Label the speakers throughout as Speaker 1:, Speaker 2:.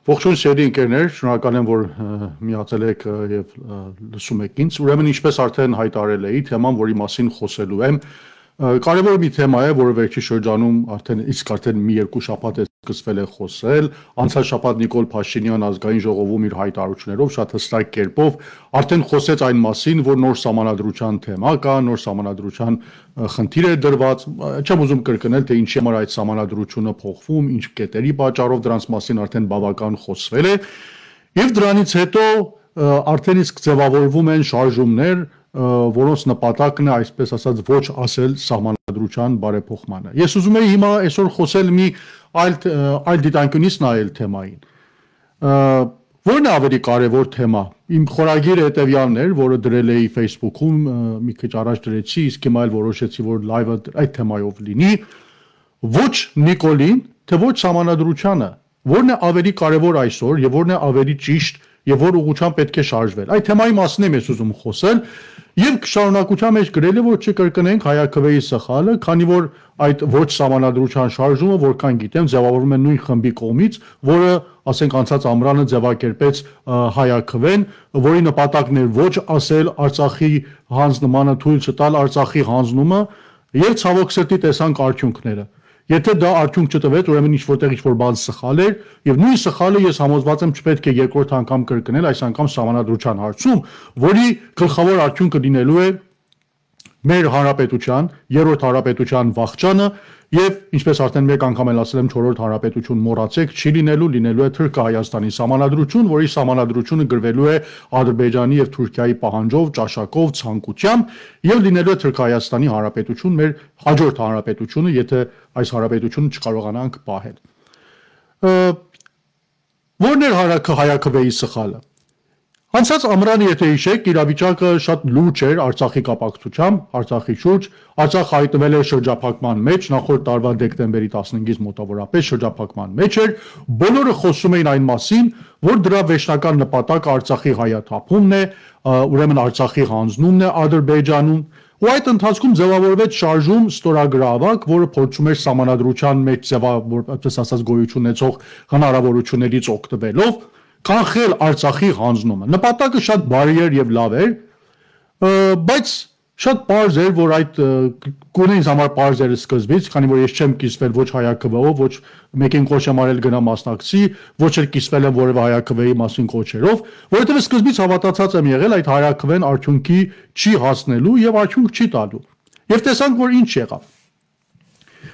Speaker 1: Ողջույն սիրելի ընկերներ, շնորհակալ եմ, որ միացել եք եւ լսում եք ինձ։ Ուրեմն ինչպես արդեն հայտարարել էի, թեման, որի մասին խոսելու եմ, կարևոր մի թեմա է, որը վերջի շրջանում արդեն մի երկու շաբաթ է սկսվել է խոսել։ Անցյալ շաբաթ Նիկոլ Փաշինյան ազգային ժողովում իր հայտարարություններով շատ հստակ կերպով արդեն խոսեց այն մասին, որ նոր սահմանադրության թեմա կա, նոր սահմանադրության խնդիր է դրված։ Չեմ ուզում կրկնել, թե ինչի համար այդ սահմանադրությունը փոխվում, ինչ կետերի պատճառով, դրանց մասին արդեն բավական խոսվել է։ Եվ դրանից հետո արդեն իսկ ձևավորվում են շարժումներ, որոնց նպատակն է, այսպես ասած, ոչ ասել սահմանադրության բարեփոխմանը։ Ես ուզում եի հիմա այսօր խոսել մի այլ դիտանկյունից նայել թեմային։ Որն է ավելի կարևոր թեմա։ Իմ խորագիրը հետևյալն էր, որը դրել էի Facebook-ում, մի քիչ առաջ դրեցի, իսկ հիմա էլ որոշեցի, որ լայվը այդ թեմայով լինի։ Ոչ Նիկոլին, թե ոչ սահմանադրությանը, որն է ավելի կարևոր այսօր եւ որն է ավելի ճիշտ եւ որ ուղղությամբ պետք է շարժվել։ Այդ թեմայի մասին եմ ես ուզում խոսել եւ շարունակության մեջ գրել եմ, որ չկրկնենք հայաքվեի սխալը, քանի որ այդ ոչ սահմանադրության շարժումը, որքան գիտեմ, ձևավորվում է նույն խմբի կողմից, որը, ասենք, անցած ամռանը ձևակերպեց հայաքվեն, որի նպատակն էր ոչ ասել Արցախի հանձնմանը, թույլ չտալ Արցախի հանձնումը եւ ցավոք սրտի տեսանք արդյունքները։ Եթե դա արդյունք չտվեց, ուրեմն ինչ-որտեղ ինչ-որ բան սխալ էր, եւ նույն սխալը ես համոզված եմ չպետք է երկրորդ անգամ կրկնել, այս անգամ սահմանադրության հարցում, որի գլխավոր արդյունքը լինելու է մեր հանրապետության, երրորդ հանրապետության վախճանը եւ ինչպես արդեն մեկ անգամ էլ ասել եմ, չորրորդ հանրապետություն մոռացեք, չի լինելու է Թուրքիա-Հայաստանի սահմանադրություն, որի սահմանադրությունը գրվելու է Ադրբեջանի եւ Թուրքիայի պահանջով, ճաշակով, ցանկությամբ եւ լինելու է Թուրքիա-Հայաստանի հանրապետություն, մեր հաջորդ հանրապետությունը, եթե այս հանրապետությունը չկարողանանք պահել։ Որն էր հայաքվեի սխալը։ Անցած ամռանը, եթե հիշեք, իրավիճակը շատ լուրջ էր Արցախի կապակցությամբ, Արցախի շուրջ, Արցախը հայտնվել էր շրջափակման մեջ, նախորդ տարվա դեկտեմբերի 15-ից մոտավորապես շրջափակման մեջ էր, բոլորը խոսում էին այն մասին, որ դրա վերջնական նպատակը Արցախի հայաթափումն է, ուրեմն Արցախի հանձնումն է Ադրբեջանում, ու այդ ընթացքում ձևավորվեց շարժում ստորագրավակ, որը փորձում էր սահմանադրության մեջ այդպես ասած գոյություն ունեցող հնարավորություններից օգտվելով կանխել Արցախի հանձնումը։ Նպատակը շատ բարի էր եւ լավ էր, բայց շատ պարզ էր, որ այդ գոնե ինձ համար պարզ էր սկզբից, քանի որ ես չեմ կիսվել ոչ հայաքվեով, ոչ մեկին կոչ եմ արել գնա մասնակցի, ոչ էլ կիսվել եմ որևէ հայաքվեի մասին կոչերով, որովհետեւ սկզբից հավատացած եմ եղել այդ հայաքվեն արդյունքի չի հասնելու եւ արդյունք չի տալու։ Եվ տեսանք, որ ինչ եղավ։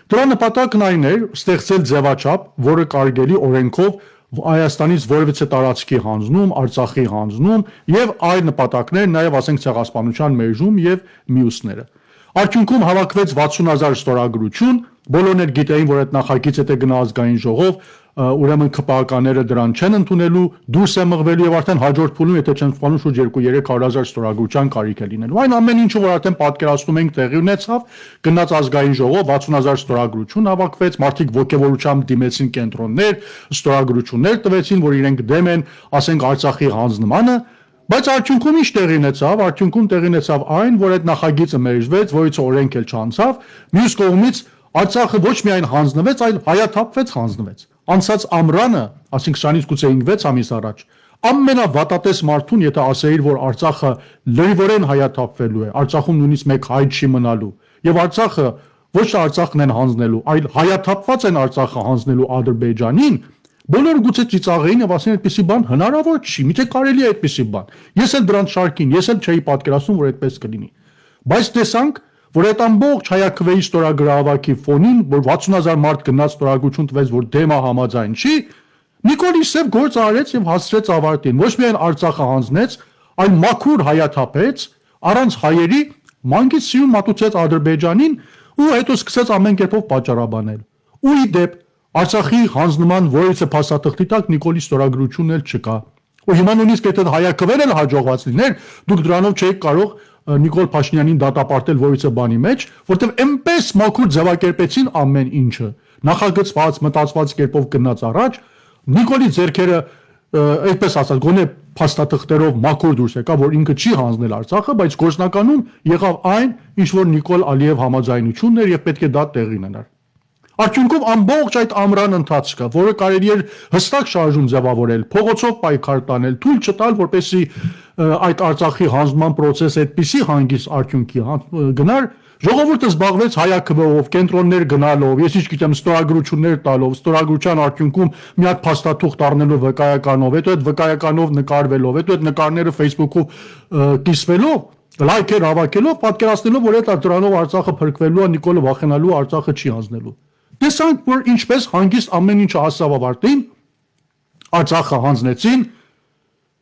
Speaker 1: Դրա նպատակն այն էր ստեղծել ձևաչափ, որը կարելի օրենքով Հայաստանից որևիցե տարածքի հանձնում, Արցախի հանձնում եւ այլ նպատակներ, նաեւ ասենք ցեղասպանության մերժում եւ մյուսները։ Արդյունքում հավաքվեց 60,000 ստորագրություն, բոլորն էլ գիտեին, որ այդ նախագիծը դե գնա ազգային ժողով, ուրեմն ԿՊԱ-կաները դրան չեն ընդունելու, դուրս է մղվելու եւ արդեն հաջորդ փուլում, եթե չեմ սխալվում, շուրջ 2-300,000 ստորագրության կարիք է լինելու։ Այն ամեն ինչը, որ արդեն պատկերացնում ենք, տեղի ունեցավ, գնաց ազգային ժողով, 60,000 ստորագրություն հավաքվեց, մարդիկ ոգևորությամբ դիմեցին կենտրոններ, ստորագրություններ տվեցին, որ իրենք դեմ են, ասենք Արցախի հանձնմանը, բայց արդյունքում ինչ տեղի ունեցավ, արդյունքում տեղի ունեցավ այն, որ այդ նախագիծը մերժվեց, որից օրենք էլ չանցավ, մյուս կողմից Արցախը ոչ միայն հանձնվեց, այլ հայաթափվեց, հանձնվեց։ Անցած ամռանը, ասենք սրանից գուցե 5 ամիս առաջ, ամենավատատես մարդուն, եթե ասեիր, որ Արցախը լրիվորեն հայաթափվելու է, Արցախում նույնիսկ մեկ հայ չի մնալու, եւ Արցախը ոչ թե Արցախն են հանձնելու, այլ հայաթափված են Արցախը հանձնելու Ադրբեջանին, բոլորը գուցե ծիծաղեին եւ ասեն այդպիսի բան հնարավոր չի, միթե կարելի է այդպիսի բան։ Ես էլ դրանց շարքին, ես էլ չէի պատկերացնում, որ այդպես կլինի։ Բայց տեսանք, որ այդ ամբողջ հայաքվեի ստորագրավակի ֆոնին, որ 60,000 մարդ գնաց ստորագրություն տվեց, որ դեմա համաձայն չի, Նիկոլի Սև գործ արեց եւ հասցրեց ավարտին։ Ոչ միայն Արցախը հանձնեց, այլ մաքուր հայաթափեց, առանց հայերի մանկից սիրուն մատուցեց Ադրբեջանին ու հետո սկսեց ամեն կերպով պատճառաբանել։ Ու ի դեպ Արցախի հանձնման որևիցե փաստաթղթի տակ Նիկոլի ստորագրությունն էլ չկա։ Ու հիմա նույնիսկ եթե հայաքվեն էլ հաջողված լիներ, դուք դրանով չէիք կարող Նիկոլ Փաշինյանին դատապարտել որևիցե բանի մեջ, որտեղ այնպես մաքուր ձևակերպեցին ամեն ինչը, նախագծված, մտածված կերպով գնաց առաջ, Նիկոլի ձեռքերը այդպես ասած գոնե փաստաթղթերով մաքուր դուրս եկա, որ ինքը չի հանձնել Արցախը, բայց գործնականում եղավ այն, ինչ որ Նիկոլ Ալիև համաձայնությունն էր եւ պետք է դա տեղի ունենար։ Արդյունքում ամբողջ այդ ամռան ընթացքը, որը կարելի էր հստակ շարժում ձևավորել, փողոցով պայքար տանել, թույլ չտալ, որպեսզի այդ Արցախի հանձնման process-ը այդպիսի հանգիստ արդյունքի գնար, ժողովուրդը զբաղվեց հայաքվեով, կենտրոններ գնալով, ես ինչ գիտեմ, ստորագրություններ տալով, ստորագրության արդյունքում մի հատ փաստաթուղթ առնելով վկայականով, հետո այդ վկայականով նկարվելով, հետո այդ նկարները Facebook-ով կիսվելով, լայքեր հավաքելով, պատկերացնելով, որ այդ դրանով Արցախը փրկվելու է, Նիկոլը վախենալու, Արցախը չի հանձնելու։ Տեսանք, որ ինչպես հանգիստ ամեն ինչը հասավ ավարտին, Արցախը հանձնեցին,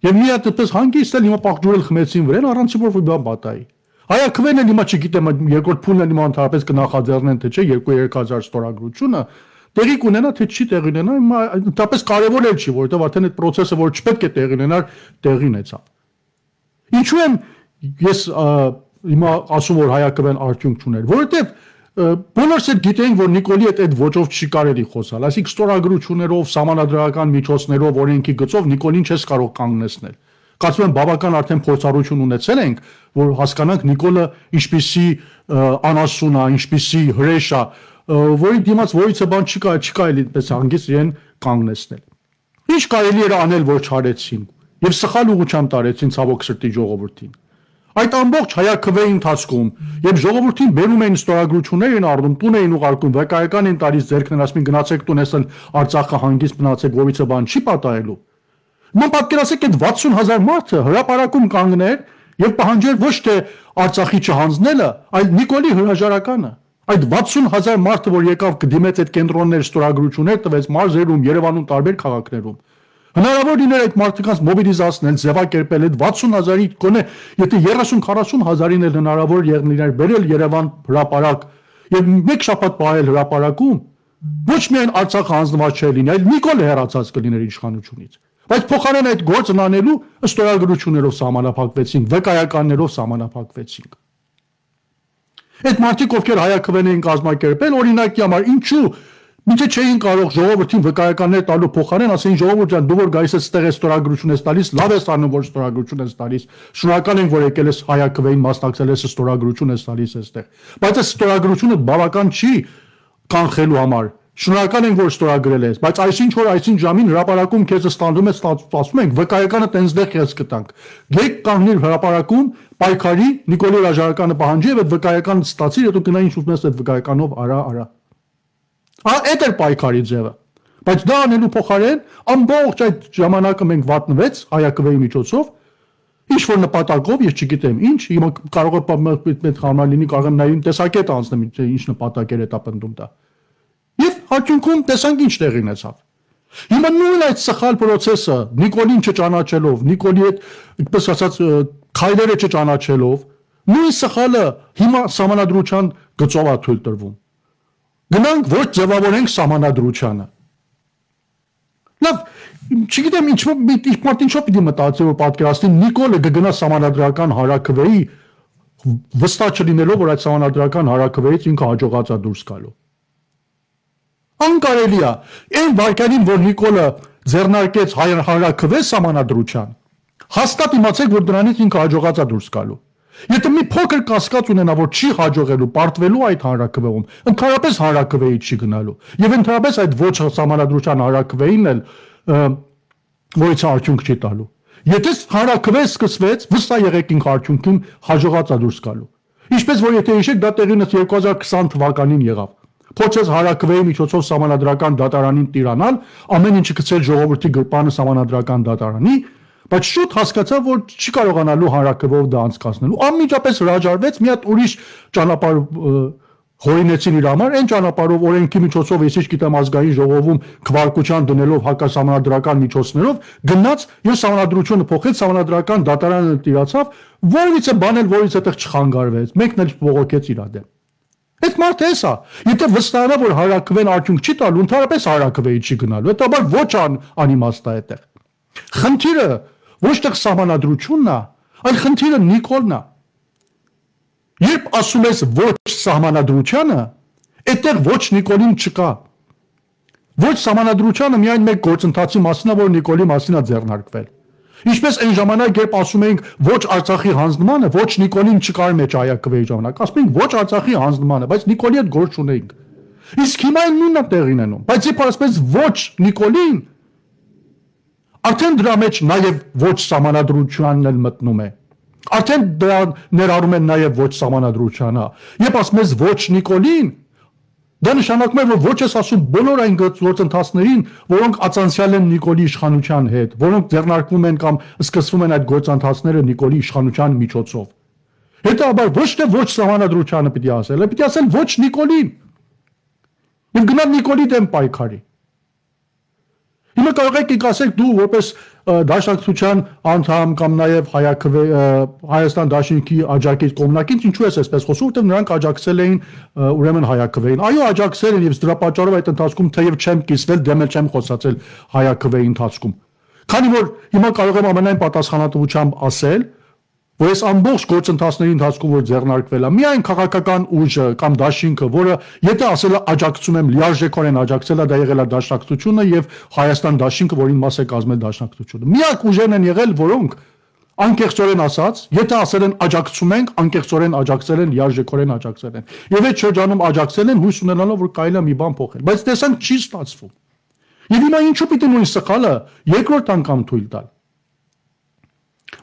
Speaker 1: եւ մի հատ այդպես հանգիստ էլ հիմա պաղջուրել խմեցին վրան, առանց որ բան պատահի։ Հայաքվեն էլ հիմա չգիտեմ, երկրորդ փուլն էլ հիմա ընդհանրապես կնախաձեռնեն, թե չէ, 2-3000 ստորագրությունը տեղի կունենա, թե չի տեղի ունենա, հիմա ընդհանրապես կարևոր էլ չի, որովհետեւ արդեն այդ process-ը, որ չպետք է տեղի ունենար, տեղի ունեցավ։ Ինչու եմ ես հիմա ասում, որ հայաքվեն արդյունք չուներ, որովհետեւ բոլորս էլ գիտենք, որ Նիկոլի այդ ոճով չի կարելի խոսալ, այսինքն ստորագրություններով, սահմանադրական միջոցներով, օրենքի գծով Նիկոլին չես կարող կանգնեցնել։ Կարծում եմ բավական արդեն փորձառություն ունեցել ենք, որ հասկանանք Նիկոլը ինչպիսի անասուն է, ինչպիսի հրեշ է, որի դիմաց որիցը բան չկա էլի այդպես հանգիստ իրեն կանգնեցնել։ Ինչ կարելի էր անել, որ չարեցին, եւ սխալ ուղղությամբ տարեցին ցավոք սրտի ժողովրդին։ Այդ ամբողջ հայաքվեի ընթացքում, երբ ժողովրդին բերում էին ստորագրություններ են առնում, տուն էին ուղարկում, վկայական են տալիս ձեռքն ասում են գնացեք տուն, էսել Արցախը հանգիստ մնացեք, որիցը բան չի պատահելու։ Ման պատկերացեք այդ 60,000 մարդը հրապարակում կանգներ եւ պահանջեր ոչ թե Արցախի չհանձնելը, այլ Նիկոլի հրաժարականը։ Այդ 60,000 մարդը, որ եկավ կդիմեց այդ կենտրոններ ստորագրություններ տվեց մարզերում, Երևանում տարբեր քաղաքներում։ Հնարավոր լիներ այդ մարդկանց մոբիլիզացնել, ձևակերպել այդ 60,000-ի գոնե, եթե 30-40 հազարին էլ հնարավոր եղներ բերել Երևան հրապարակ եւ մեկ շաբաթ պահել հրապարակում, ոչ միայն Արցախը հանձնված չէ լինի, այլ Նիկոլը հեռացած կլիներ իշխանությունից։ Բայց փոխարեն այդ գործն անելու ստորագրություններով սահմանափակվեցինք, վկայականներով սահմանափակվեցինք։ Այդ մարդիկ, ովքեր հայաքվեն էին կազմակերպել, օրինակի համար ինչու Միթե չէին կարող ժողովրդին վկայականներ տալու փոխարեն ասեն ժողովուրդ ջան, դու որ գայիս ես ստեղ ստորագրություն ես տալիս, լավ ես անում որ ստորագրություն ես տալիս։ Շնորհակալ ենք որ եկել ես հայաքվեին մասնակցել ես ստորագրություն ես տալիս այստեղ։ Բայց այս ստորագրությունը բավական չի կանխելու համար։ Շնորհակալ ենք որ ստորագրել ես, բայց այսինչ որ այսինչ ժամին հրապարակում քեզ ստանդում է ասում ենք վկայականը տենցդեղ քեզ կտանք։ Գեկ կանգնիր հրապարակում, պայքարի, Նիկոլի հրաժարականը պահանջի եւ այդ վկայականը ստացիր, հետո գնա ինչ ուզում ես այդ վկայականով արա։ Այդ էր պայքարի ձևը, բայց դա անելու փոխարեն ամբողջ այդ ժամանակը մենք վատնվեց հայաքվեի միջոցով, ինչ որ նպատակով, ես չգիտեմ ինչ, հիմա կարող է պետք համալ լինի, կարող եմ նաև տեսակետ անցնեմ, ինչ նպատակ էր դա պնդում դա։ Եվ արդյունքում տեսանք ինչ տեղի ունեցավ։ Հիմա նույն այդ սխալ process-ը Նիկոլին չճանաչելով, Նիկոլի այդ այդպես ասած քայլերը չճանաչելով, նույն սխալը հիմա սահմանադրության գծով է թույլ տրվում։ Գնանք ոչ ձևավորենք սահմանադրությանը։ Լավ, չգիտեմ ինչով պիտի մտածի որ պատկերացնի Նիկոլը կգնա սահմանադրական հարաքվեի վստահ չլինելով որ այդ սահմանադրական հարաքվեից ինքը հաջողած է դուրս գալու։ Անկարելի է, այն վարքյանին որ Նիկոլը ձեռնարկեց հարաքվե սահմանադրության, հաստատ իմացեք որ դրանից ինքը հաջողած է դուրս գալու։ Եթե մի փոքր կասկած ունենա, որ չի հաջողելու պարտվելու այդ հանրաքվեում, ընդհանրապես հանրաքվեի չի գնալու։ Եվ ընդհանրապես այդ ոչ սահմանադրության հանրաքվեին էլ որից արդյունք չի տալու։ Եթե հանրաքվե սկսվեց, վստահ եղեք ինքը արդյունքին հաջողած է դուրս գալու։ Ինչպես որ եթե հիշեք, դա տեղի ունեցավ 2020 թվականին եղավ։ Փորձեց հանրաքվեի միջոցով սահմանադրական դատարանին տիրանալ, ամեն ինչը գցել ժողովրդի գրպանը սահմանադրական դատարանի, բայց շուտ հասկացա, որ չի կարողանալու հանրաքվեով դա անցկացնելու։ Անմիջապես հրաժարվեց, մի հատ ուրիշ ճանապարհ հորինեցին իր համար, այն ճանապարհով օրենքի միջոցով, ես ինչ գիտեմ ազգային ժողովում քվարկության դնելով հակասահմանադրական միջոցներով գնաց եւ սահմանադրությունը փոխեց, սահմանադրական դատարանը տիրացավ, որից է բանել, որից այդտեղ չխանգարվեց, մեկն էլ բողոքեց իր դեմ։ Այդ մարդը էսա, եթե վստահանա, որ հանրաքվեն արդյունք չի տալու, ընդհանրապես հանրաքվեի չի գնալու, հետաբար ոչ անիմաստ է այդտեղ։ Խնդիրը ոչ թե սահմանադրությունն է, այլ խնդիրը Նիկոլն է։ Երբ ասում ես ոչ սահմանադրությանը, այդտեղ ոչ Նիկոլին չկա։ Ոչ սահմանադրությանը միայն մեկ գործընթացի մասին է, որ Նիկոլի մասին է ձեռնարկվել։ Ինչպես այն ժամանակ, երբ ասում էինք ոչ Արցախի հանձնմանը, ոչ Նիկոլին չկար մեջ ԱՅԿ-ի ժամանակ, ասում էինք ոչ Արցախի հանձնմանը, բայց Նիկոլի հետ գործ չունեինք։ Իսկ հիմա այն նույնն է տեղին անում, բայց երբ ասես ոչ Նիկոլին, արդեն դրա մեջ նաև ոչ սահմանադրությանն էլ մտնում է։ Արդեն դրա ներառում են նաև ոչ սահմանադրությանը։ Երբ ասում ես ոչ Նիկոլին, դա նշանակում է, որ ոչ ես ասում բոլոր այն գործընթացներին, որոնք ածանցյալ են Նիկոլի իշխանության հետ, որոնք ձեռնարկվում են կամ սկսվում են այդ գործընթացները Նիկոլի իշխանության միջոցով։ Հետաբար ոչ թե ոչ սահմանադրությանը պիտի ասել, այլ պիտի ասել ոչ Նիկոլին։ Եվ գնալ Նիկոլի դեմ պայքարի։ Հիմա կարող եք ասեք դու որպես դաշնակցության անդամ կամ նաև Հայաստան դաշինքի աջակից կողմնակից ինչու ես այսպես խոսում, որտեղ նրանք աջակցել էին ուրեմն Հայաքվեին։ Այո, աջակցել են եւ դրա պատճառով այդ ընթացքում թեև չեմ կիսվել, դեմ էլ չեմ խոսացել Հայաքվեի ընթացքում։ Քանի որ հիմա կարող եմ ամենայն պատասխանատվությամբ ասել, որ այս ամբողջ գործընթացների ընթացքում որ ձեռնարկվել է, միայն քաղաքական ուժը կամ դաշինքը, որը եթե ասել է աջակցում եմ, լիարժեքորեն աջակցել է, դա եղել է դաշնակցությունը եւ Հայաստան դաշինքը, որին մաս է կազմել դաշնակցությունը։ Միակ ուժերն են եղել, որոնք անկեղծորեն ասած, եթե ասել են աջակցում ենք, անկեղծորեն աջակցել են, լիարժեքորեն աջակցել են։ Եվ այդ շրջանում աջակցել են, հույս ունենալով, որ կարելի է մի բան փոխել։ Բայց տեսանք չի ստացվում։ Եվ հիմա ինչու պիտի նույն սխալը երկրորդ անգամ թույլ տալ։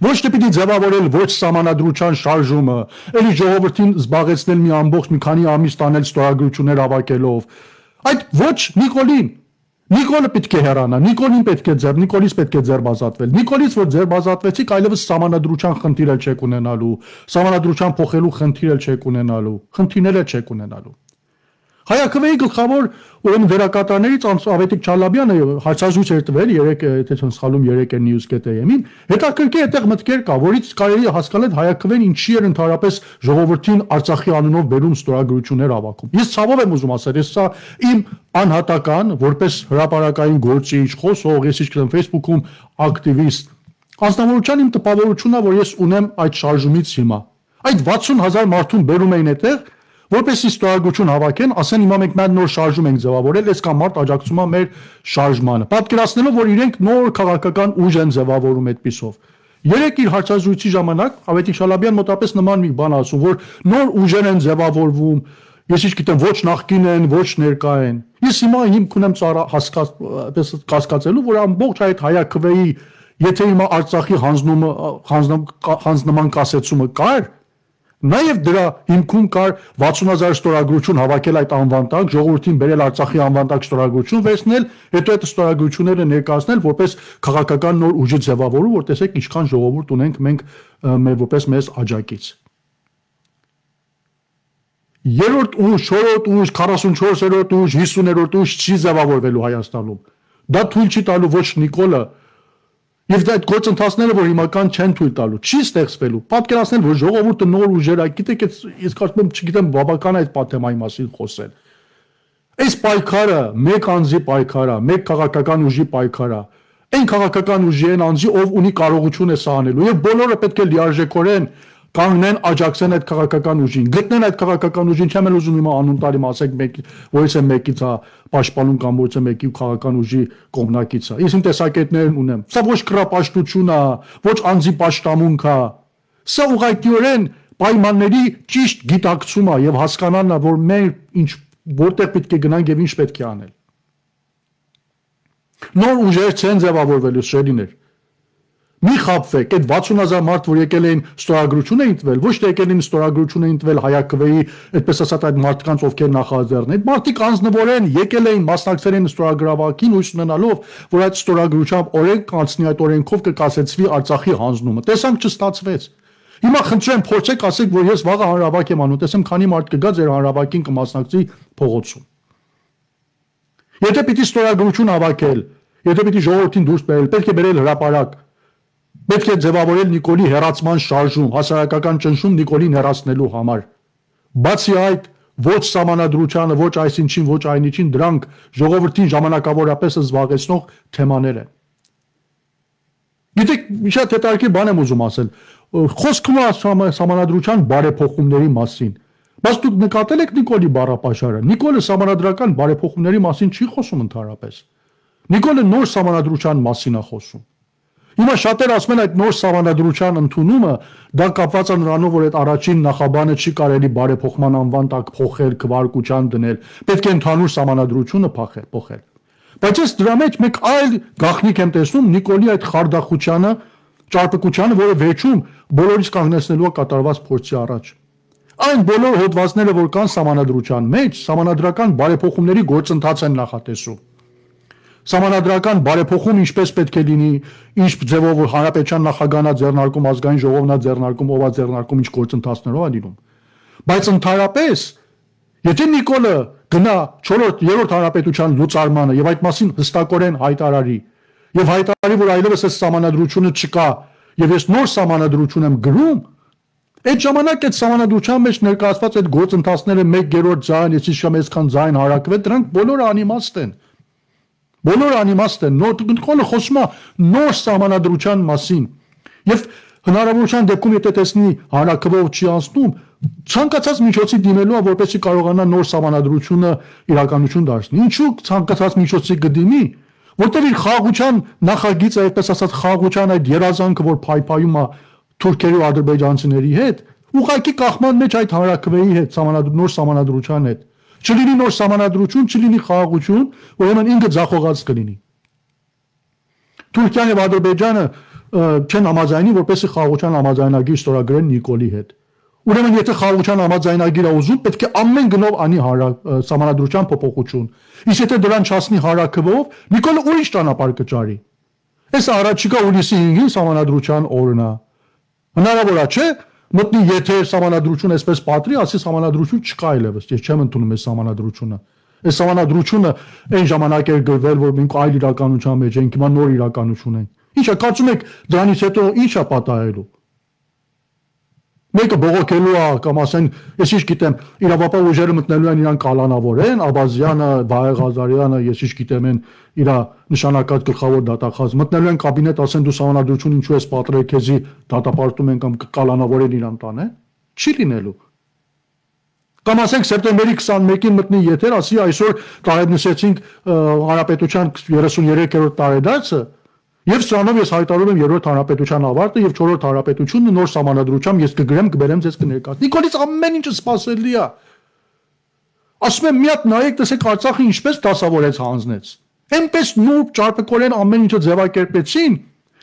Speaker 1: Ոչ թե պիտի ձևավորել ոչ սահմանադրության շարժումը, էլի ժողովրդին զբաղեցնել մի ամբողջ մի քանի ամիս տանել ստորագրություններ ավակելով, այդ ոչ Նիկոլին, Նիկոլը պետք է հեռանա, Նիկոլից պետք է ձերբազատվել, Նիկոլից որ ձերբազատվեցիք այլևս սահմանադրության խնդիր էլ չեք ունենալու, սահմանադրության փոխելու խնդիր էլ չեք ունենալու, խնդիրներ էլ չեք ունենալու։ Հայաքվեի գլխավոր ուրեմն դերակատարներից Ավետիք Չալաբյանը հարցազրույց էր տվել 3, եթե չեմ սխալվում 3 news.am-ին, հետաքրքիր այդտեղ մտքեր կա, որից կարելի է հասկանալ Հայաքվեն ինչի էր ընդհանրապես ժողովրդին Արցախի անունով բերում ստորագրություններ ավակում։ Ես ցավով եմ ուզում ասել, ես սա իմ անհատական, որպես հրապարակային գործիչ, խոսող, ես իշխեմ Facebook-ում ակտիվիստ, անձնավորության իմ տպավորությունն է, որ ես ունեմ այդ շարժումից հիմա։ Այդ 60,000 մարդուն բերում էին այդտեղ որպեսզի ստորագրություն հավաքեն, ասեն հիմա մենք մեր նոր շարժում ենք ձևավորել, այս կամ մարդ աջակցում է մեր շարժմանը։ Պատկերացնելով, որ իրենք նոր քաղաքական ուժ են ձևավորում այդպիսով։ Երեք իր հարցազրույցի ժամանակ Ավետիք Շալաբյան մոտապես նման մի բան ասում, որ նոր ուժեր են ձևավորվում, ես ինչ գիտեմ, ոչ նախկին են, ոչ ներկա են։ Ես հիմա հիմք ունեմ կասկածելու, որ ամբողջ այդ Հայաքվեի, եթե հիմա Արցախի հանձնման կասեցումը կար, նաև դրա հիմքում կար 60,000 ստորագրություն հավաքել այդ անվան տակ, ժողովրդին բերել Արցախի անվան տակ ստորագրություն վերցնել, հետո այդ ստորագրությունները ներկայացնել որպես քաղաքական նոր ուժ ձևավորում, որ տեսեք ինչքան ժողովուրդ ունենք մենք որպես մեզ աջակից։ Երրորդ ուժ, չորրորդ ուժ, 44-րդ ուժ, 50-րդ ուժ չի ձևավորվելու Հայաստանում։ Դա թույլ չի տալու ոչ Նիկոլը Եվ այդ գործընթացները, որ հիմական չեն թույլ տալու, չի ստեղծվելու։ Պատկերացնել, որ ժողովուրդը նոր ուժեր է, գիտեք, ես կարծում եմ, չգիտեմ, բավական է այդ թեմայի մասին խոսել։ Այս պայքարը մեկ անձի պայքար է, մեկ քաղաքական ուժի պայքար է։ Այն քաղաքական ուժի են անձի, ով ունի կարողություն է սա անելու, եւ բոլորը պետք է լիարժեքորեն կանգնեն, աջակցեն այդ քաղաքական ուժին, գտնեն այդ քաղաքական ուժին, չեմ էլ ուզում հիմա անուն տալի, ասեք մեկ, որից է մեկից է պաշտպանում կամ որից է մեկի քաղաքական ուժի կողմնակից է։ Ես իմ տեսակետներն ունեմ։ Սա ոչ կռապաշտություն է, ոչ անձի պաշտամունք է։ Սա ուղղակիորեն պայմանների ճիշտ գիտակցում է եւ հասկանալն է, որ մենք ինչ որտեղ պետք է գնանք եւ ինչ պետք է անել։ Նոր ուժեր չեն ձևավորվելու շերիներ։ Մի խաբվեք, այդ 60,000 մարդ, որ եկել էին ստորագրություն էին տվել, ոչ թե եկել էին ստորագրություն էին տվել Հայաքվեի, այդպես ասած այդ մարդկանց, ովքեր նախաձեռն են։ Այդ մարդիկ անձնվորեն եկել էին մասնակցել են ստորագրավակին, հույս ունենալով, որ այդ ստորագրությամբ օրենք կանցնի, այդ օրենքով կկասեցվի Արցախի հանձնումը։ Տեսանք չստացվեց։ Հիմա խնդրեմ փորձեք ասեք, որ ես վաղը հանրավակ եմ անում, տեսեմ քանի մարդ կգա ձեր հանրավակին կմասնակցի փողոցում։ Եթե պիտի ստորագրություն հավաքել, եթե պիտի ժողովրդին դուրս բերել, պետք է բերել հրապարակ։ Պետք է ձևավորել Նիկոլի հեռացման շարժում, հասարակական ճնշում Նիկոլին հեռացնելու համար։ Բացի այդ, ոչ սահմանադրությանը, ոչ այսինչին, ոչ այնիչին, դրանք ժողովրդին ժամանակավորապես զբաղեցնող թեմաներ են։ Գիտեք, շատ հետաքրքիր բան եմ ուզում ասել։ Խոսքում է սահմանադրության բարեփոխումների մասին, Բայց դուք նկատել եք Նիկոլի բառապաշարը։ Նիկոլը սահմանադրական բարեփոխումների մասին չի խոսում ընդհանրապես։ Նիկոլը նոր սահմանադրության մասին է խոսում։ Հիմա շատերը ասում են այդ նոր սահմանադրության ընդունումը դա կապված է նրանով, որ այդ առաջին նախաբանը չի կարելի բարեփոխման անվան տակ փոխել, քվարկության դնել, պետք է ընդհանուր սահմանադրությունը փոխել։ Բայց ես դրա մեջ մեկ այլ գաղտնիք եմ տեսնում Նիկոլի այդ խարդախությանը, ճարպկությանը, որը վերջում բոլորից կանգնեցնելու է կատարված փորձի առաջ։ Այն բոլոր հոդվածները, որ կան սահմանադրության մեջ, սահմանադրական բարեփոխումների գործընթաց են նախատեսում։ Սահմանադրական բարեփոխում ինչպես պետք է լինի, ինչ ձևով հանրապետության նախագահանա ձեռնարկում, ազգային ժողովնա ձեռնարկում, ով է ձեռնարկում, ինչ գործընթացներով է լինում։ Բայց ընդհանրապես, եթե Նիկոլը գնա 4-րդ հանրապետության լուծարմանը եւ այդ մասին հստակորեն հայտարարի, եւ հայտարարի, որ այլևս այս սահմանադրությունը չկա, եւ ես նոր սահմանադրություն եմ գրում, այդ ժամանակ այդ սահմանադրության մեջ ներկայացված այդ գործընթացները 1/3 ձայն, ես իշխամ այսքան ձայն հարակվե, դրանք բոլորը անիմաստ են։ Բոլորը անիմաստ են, Նիկոլը խոսում է նոր սահմանադրության մասին եւ հնարավորության դեպքում եթե տեսնի հանրակրվով չի անցնում, ցանկացած միջոցի դիմելու է, որպեսզի կարողանա նոր սահմանադրությունը իրականություն դարձնել։ Ինչու ցանկացած միջոցի կդիմի, որտեղ իր խաղաղության նախագիծը, այդպես ասած, խաղաղության այդ երազանքը, որ փայփայում է թուրքերի ու ադրբեջանցիների հետ, ուղղակի կախման մեջ այդ հանրակրվեի հետ, նոր սահմանադրության հետ։ Չլինի նոր սահմանադրություն, չլինի խաղաղություն, ուրեմն ինքը ձախողած կլինի։ Թուրքիան եւ Ադրբեջանը չեն համաձայնի, որպեսզի խաղաղության համաձայնագիր ստորագրեն Նիկոլի հետ։ Ուրեմն եթե խաղաղության համաձայնագիր է ուզում, պետք է ամեն գնով անի սահմանադրության փոփոխություն։ Իսկ եթե դրան չասնի հարակվով, Նիկոլը ուրիշ ճանապարհ կճարի։ Այս առաջիկա հուլիսի 5-ին սահմանադրության օրն է։ Հնարավոր է, չէ՞, մտնի եթե սահմանադրություն այսպես պատրի, ասի սահմանադրություն չկա այլևս, ես չեմ ընդունում այս սահմանադրությունը։ Այս սահմանադրությունը այն ժամանակ էր գրվել, որ մենք այլ իրականության մեջ ենք, հիմա նոր իրականություն ենք։ Ինչ է, կարծում եք դրանից հետո ինչ է պատահելու։ Մեկը բողոքելու է կամ ասեն, ես ինչ գիտեմ, իրավապահ ուժերը մտնելու են իրան կալանավորեն, Աբազյանը, Վահե Ղազարյանը, ես ինչ գիտեմ, են իր նշանակած գլխավոր դատախազ մտնելու են կաբինետ, ասեն դու սահմանադրություն ինչու ես պատրել, քեզի դատապարտում են կամ կալանավորեն իրան տանեն, չի լինելու։ Կամ ասենք սեպտեմբերի 21-ին մտնի եթեր, ասի այսօր տարեդնսեցինք հանրապետության 33-րդ տարեդարձը, եւ սրանով ես հայտարարում եմ 3-րդ հանրապետության ավարտը եւ 4-րդ հանրապետությունը նոր սահմանադրությամբ ես կգրեմ, կբերեմ ձեզ կներկայացնեմ։ Նիկոլից ամեն ինչը սпасելի է։ Ասում եմ մի հատ նայեք, տեսեք Արցախը ինչպես դասավորեց հանձնեց։ Այնպես նուրբ ճարպկորեն ամեն ինչը ձևակերպեցին,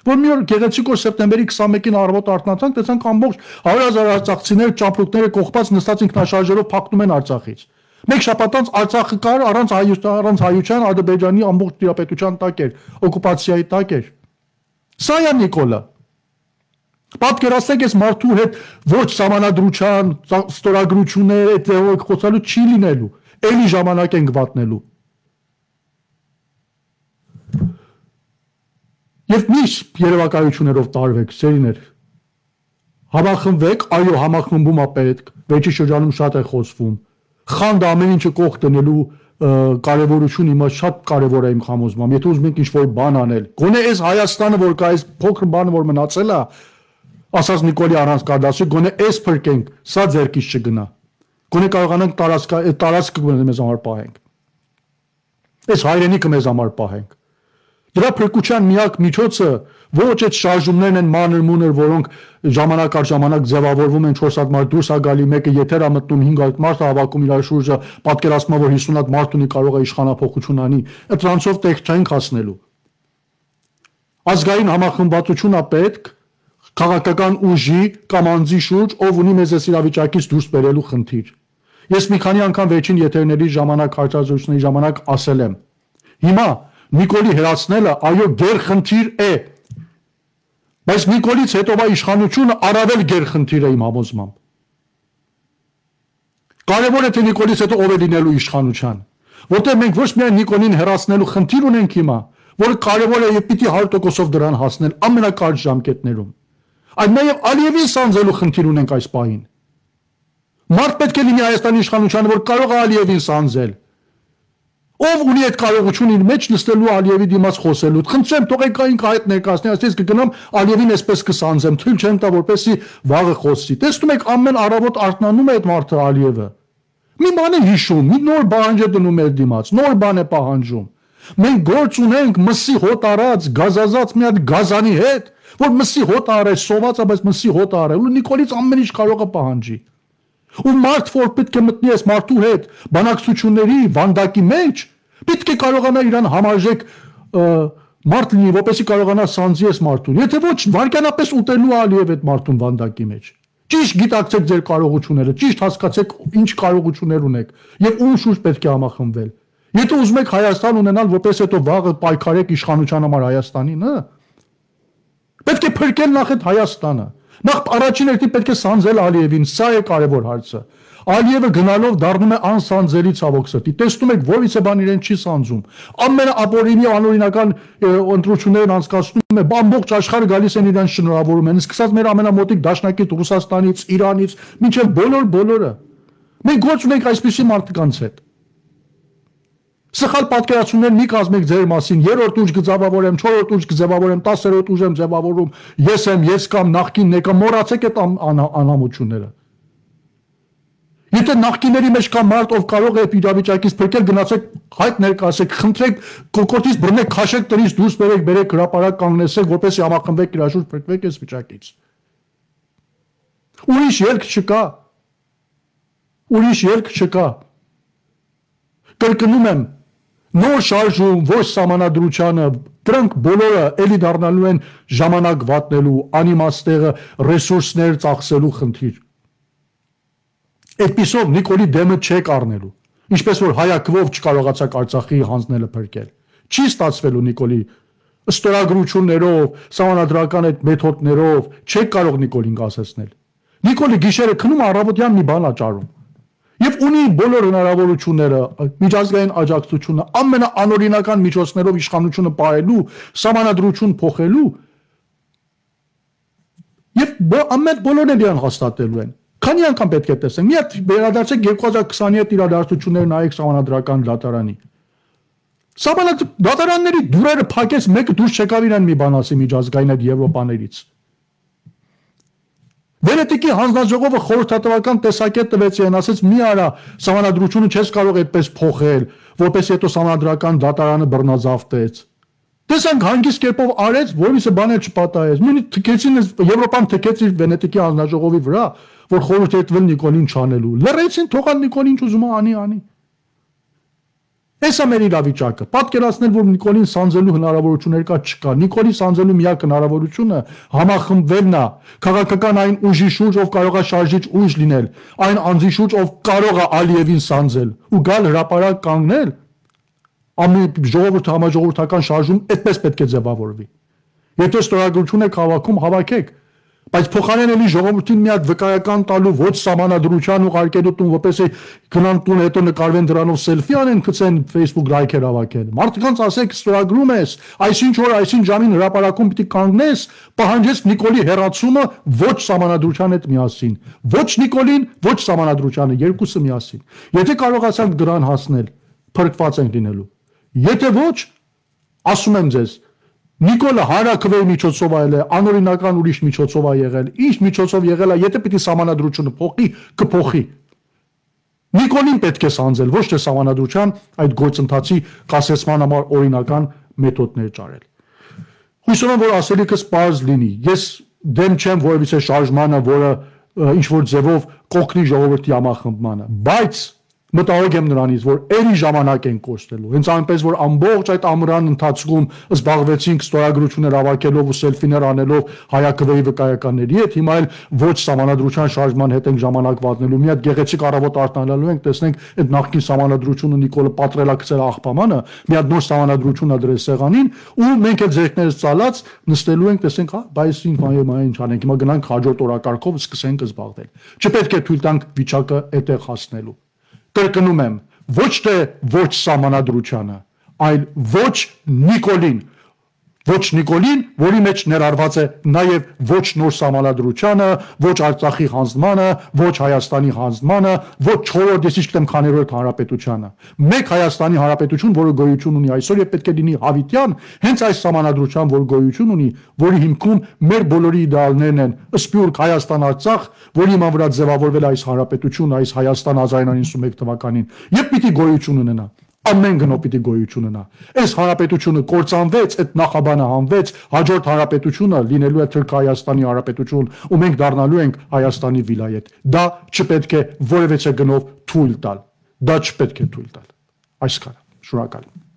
Speaker 1: որ մի օր գեղեցիկ օր սեպտեմբերի 21-ին առավոտ արթնացանք, տեսանք ամբողջ 100,000 արցախցիներ ճամփորդները կողպած նստած ինքնաշարժերով փակնում են Արցախից։ Մեկ շաբաթ անց Արցախը կար առանց հայության, Ադրբեջանի ամբողջ տիրապետության տակ էր, օկուպացիայի տակ էր։ Սա է Նիկոլը։ Պատկերացրեք, այս մարդու հետ ոչ սահմանադրության, ստորագրություններ, այդ ձևով խոսալու չի լինելու, էլի ժամանակ ենք վատնելու։ Եվ միշտ երևակայություններով տարվեք, սերիներ։ Համախմբվեք, այո, համախմբում է պետք, վերջի շրջանում շատ է խոսվում։ Խանդը ամեն ինչը կողք դնելու կարևորությունը հիմա շատ կարևոր է իմ համոզմամբ։ Եթե ուզում եք ինչ-որ բան անել, գոնե այս Հայաստանը, որ կա, այս փոքր բանը, որ մնացել է, ասած Նիկոլի առանց կադասի, գոնե այս փրկենք, սա ձերքից չգնա։ Գոնե կարողանանք տարածքը մեզ համար պահենք։ Այս հայրենիքը մեզ համար պահենք։ Դրա փրկության միակ միջոցը ոչ այդ շարժումներն են մանր-մունր, որոնք ժամանակ առ ժամանակ ձևավորվում են 4 հատ մարդ դուրս է գալի, մեկը եթեր է մտնում 5 հատ մարդ է հավաքում իր շուրջը, պատկերացնում է, որ 50 հատ մարդ ունի, կարող է իշխանափոխություն անի, այդ դրանցով տեղ չենք հասնելու։ Ազգային համախմբվածություն է պետք, քաղաքական ուժի կամ անձի շուրջ, ով ունի մեզ այս իրավիճակից դուրս բերելու խնդիր։ Ես մի քանի անգամ վերջին եթերների ժամանակ, հարցազրույցների ժամանակ ասել եմ։ Հիմա Նիկոլի հրացնելը այո գերխնդիր է, բայց Նիկոլից հետո իշխանությունը առավել գերխնդիր է իմ համոզմամբ։ Կարևոր է թե Նիկոլից հետո ով է լինելու իշխանության, որտեղ մենք ոչ միայն Նիկոլին հրացնելու խնդիր ունենք հիմա, որը կարևոր է եւ պիտի 100%-ով դրան հասնել ամենակարճ ժամկետներում, այլ նաեւ Ալիևին սանձելու խնդիր ունենք այս պահին։ Մարդ պետք է լինի Հայաստանի իշխանությանը, որ կարող է Ալիևին սանձել։ Ով ունի այդ կարողությունը իր մեջ նստելու Ալիևի դիմաց խոսելու։ Խնդրեմ, թողեք ինքը այդ ներկայացնի, այսպես կգնամ Ալիևին այսպես կսանձեմ, թույլ չեմ տա, որպեսզի վաղը խոսի։ Տեսնում եք, ամեն առավոտ արթնանում է այդ մարդը Ալիևը։ Մի բան է հիշում, մի նոր բանջ է դնում մեր դիմաց, նոր բան է պահանջում։ Մենք գործ ունենք մսի հոտ արած, գազազած մի հատ գազանի հետ, որ մսի հոտ արել, սոված է, բայց մսի հոտ արել, ու Նիկոլից ամեն ինչ կարող է պահանջի։ Ու մարդ որ պետք է մտնի այս մարդու հետ բանակցությունների վանդակի մեջ, պետք է կարողանա իրան համարժեք մարդ լինի, որպեսզի կարողանա սանձի այս մարդուն։ Եթե ոչ, վարքյանապես ուտելու Ալիև այդ մարդուն վանդակի մեջ։ Ճիշտ գիտակցեք ձեր կարողությունները, ճիշտ հասկացեք ինչ կարողություններ ունեք եւ ում շուրջ պետք է համախմբվել։ Եթե ուզում եք Հայաստան ունենալ, որպես հետո վաղը պայքարեք իշխանության համար Հայաստանին, պետք է փրկել նախ այդ Հայաստանը։ Նախ առաջին հերթին պետք է սանձել Ալիևին, սա է կարևոր հարցը։ Ալիևը գնալով դառնում է անսանձելի ցավոք սրտի։ Տեսնում եք, որևիցե բան իրեն չի սանձում։ Ամենաապօրինի անօրինական ընտրություններն անցկացնում է, ամբողջ աշխարհը գալիս են իրեն շնորհավորում են, սկսած մեր ամենամոտիկ դաշնակից Ռուսաստանից, Իրանից, մինչև բոլորը։ Մենք գործ ունենք այսպիսի մարդկանց հետ։ Սխալ պատկերացումներ մի կազմեք ձեր մասին, 3-րդ ուժ կձևավորեմ, 4-րդ ուժ կձևավորեմ, 10-րդ ուժ եմ ձևավորում, ես եմ, ես կամ նախկինն եկա, մոռացեք այդ անհամությունները։ Եթե նախկինների մեջ կա մարդ, ով կարող է իրավիճակից փրկել, գնացեք հայտ ներկայացեք, խնդրեք, կոկորտից բռնեք, քաշեք տնից դուրս բերեք հրապարակ կանգնեցեք, որպեսզի համախմբեք իր շուրջ փրկվեք այս վիճակից։ Ուրիշ ելք չկա։ Կրկնում եմ, նոր շարժում, ոչ սահմանադրությանը, դրանք բոլորը էլի դառնալու են ժամանակ վատնելու, անիմաստեղը, ռեսուրսներ ծախսելու խնդիր։ Այդպիսով Նիկոլի դեմը չեք առնելու, ինչպես որ հայակվով չկարողացաք Արցախի հանձնելը փրկել։ Չի ստացվելու Նիկոլի ստորագրություններով, սահմանադրական այդ մեթոդներով չեք կարող Նիկոլին կասեցնել։ Նիկոլի գիշերը քնում առավոտյան մի բան աճարում։ Եվ ունի բոլոր հնարավորությունները, միջազգային աջակցությունը, ամենաանօրինական միջոցներով իշխանությունը պահելու, սահմանադրություն փոխելու եւ ամեն բոլորն էլ իրան հաստատելու են։ Քանի անգամ պետք է տեսնենք։ Մի հատ վերադարձեք 2027 իրադարձություններ նայեք սահմանադրական դատարանի։ Դատարանների դուրերը փակեց, մեկը դուրս չեկավ իրան մի բան ասի միջազգային այդ Եվրոպաներից։ Վենետիկի հանձնաժողովը խորհրդատվական տեսակետ տվեց իրեն, ասեց մի արա, սահմանադրությունը չես կարող այդպես փոխել, որպես հետո սահմանադրական դատարանը բռնազավթեց։ Տեսանք հանգիստ կերպով արեց, որևիցե բան էլ չպատահեց։ Նույնիսկ թքեցին Եվրոպան թքեց իր Վենետիկի հանձնաժողովի վրա, որ խորհրդատվել Նիկոլին չանելու։ Լռեցին, թողան Նիկոլին ուզում անի։ Էսա մեր իրավիճակը։ Պատկերացնել, որ Նիկոլին սանձելու հնարավորություններ չկա։ Նիկոլի սանձելու միակ հնարավորությունը համախմբվելն է, քաղաքական այն ուժի շուրջ, ով կարող է շարժիչ ուժ լինել, այն անձի շուրջ, ով կարող է Ալիևին սանձել ու գալ հրապարակ կանգնել, համաժողովրդական շարժում այդպես պետք է ձևավորվի։ Եթե ստորագրություն եք հավաքում, հավաքեք, բայց փոխարեն էլի ժողովրդին մի հատ վկայական տալու ոչ սահմանադրության ուղարկելու տուն, որպեսզի գնան տուն, հետո նկարվեն դրանով սելֆի անեն, գցեն Facebook լայքեր հավաքեն։ Մարդկանց ասեք, ստորագրում ես, այսինչ օր, այսինչ ժամին հրապարակում պիտի կանգնես, պահանջես Նիկոլի հեռացումը ոչ սահմանադրության հետ միասին։ Ոչ Նիկոլին, ոչ սահմանադրությանը, երկուսը միասին։ Եթե կարողացանք դրան հասնել, փրկված ենք լինելու։ Եթե ոչ, ասում եմ ձեզ, Նիկոլը հարակվեի միջոցով այլ է, անօրինական ուրիշ միջոցով է եղել, ինչ միջոցով եղել է, եթե պիտի սահմանադրությունը փոխի, կփոխի։ Նիկոլին պետք է սանձել, ոչ թե սահմանադրության այդ գործընթացի կասեցման համար օրինական մեթոդներ ճարել։ Հույսով եմ, որ ասելիքս պարզ լինի։ Ես դեմ չեմ որևիցե շարժմանը, որը ինչ որ ձևով կօգնի ժողովրդի համախմբմանը, բայց մտահոգ եմ նրանից, որ երի ժամանակ են կորցնելու։ Հենց այնպես, որ ամբողջ այդ ամռան ընթացքում զբաղվեցինք ստորագրություններ հավաքելով ու սելֆիներ անելով հայակվեի վկայականների հետ, հիմա էլ ոչ սահմանադրության շարժման հետ ենք ժամանակ վատնելու։ Մի հատ գեղեցիկ առավոտ արտանալու ենք, տեսնենք այդ նախկին սահմանադրությունը Նիկոլը պատրելակցել աղբամանը, մի հատ նոր սահմանադրություն ադրել սեղանին ու մենք այդ ձեռքներս ծալած նստելու ենք, տեսնենք, հա, բայց ինչ անենք, հիմա գնանք հաջորդ օրակարգով սկսենք զբաղվել։ Չպետք է թույլ տանք վիճակը այդտեղ հասնելու։ Կրկնում եմ, ոչ թե ոչ սահմանադրությանը, այլ ոչ Նիկոլին, Ոչ Նիկոլին, որի մեջ ներառված է նաև ոչ նոր սահմանադրությանը, ոչ Արցախի հանձնմանը, ոչ Հայաստանի հանձնմանը, ոչ 4-րդ, ես ինչ գիտեմ քաներորդ հանրապետությանը։ Մեկ Հայաստանի հանրապետություն, որը գոյություն ունի այսօր եւ պետք է լինի հավիտյան, հենց այս սահմանադրության, որ գոյություն ունի, որի հիմքում մեր բոլորի իդեալներն են Սփյուռք, Հայաստան, Արցախ, որի հիման վրա ձևավորվել է այս հանրապետությունը, այս Հայաստան 1991 թվականին, եւ պիտի գոյություն ունենա։ Ամեն գնով պիտի գոյություն ունենա։ Այս հանրապետությունը կործանվեց, այդ նախաբանը հանվեց, հաջորդ հանրապետությունը լինելու է Թուրք-Հայաստանի հանրապետություն, ու մենք դառնալու ենք Հայաստանի վիլայետ։ Դա չպետք է որևէ գնով թույլ տալ։ Դա չպետք է թույլ տալ։ Այսքանը։ Շնորհակալ եմ։